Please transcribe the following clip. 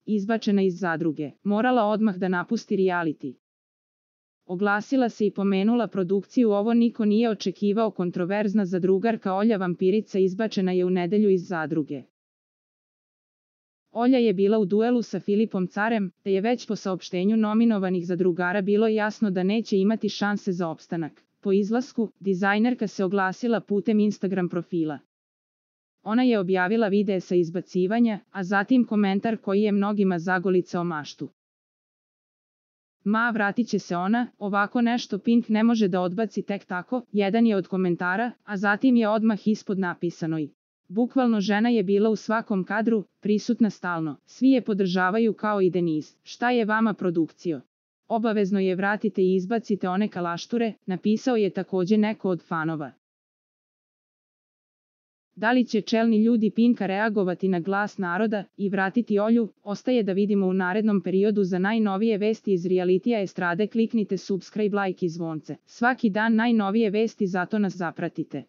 izbačena iz zadruge, morala odmah da napusti reality. Oglasila se i pomenula produkciju Ovo niko nije očekivao. Kontroverzna zadrugarka Olja Vampirica izbačena je u nedelju iz zadruge. Olja je bila u duelu sa Filipom Carem, te je već po saopštenju nominovanih zadrugara bilo jasno da neće imati šanse za opstanak. Po izlasku, dizajnerka se oglasila putem Instagram profila. Ona je objavila videe sa izbacivanja, a zatim komentar koji je mnogima zagolicao maštu. Vratit će se ona, ovako nešto Pink ne može da odbaci tek tako, jedan je od komentara, a zatim je odmah ispod napisano i. Bukvalno žena je bila u svakom kadru, prisutna stalno, svi je podržavaju kao i Denise. Šta je vama produkcijo? Obavezno je vratite i izbacite one kalašture, napisao je takođe neko od fanova. Da li će čelni ljudi Pinka reagovati na glas naroda i vratiti Olju, ostaje da vidimo u narednom periodu. Za najnovije vesti iz realitija estrade kliknite subscribe, like i zvonce. Svaki dan najnovije vesti, zato nas zapratite.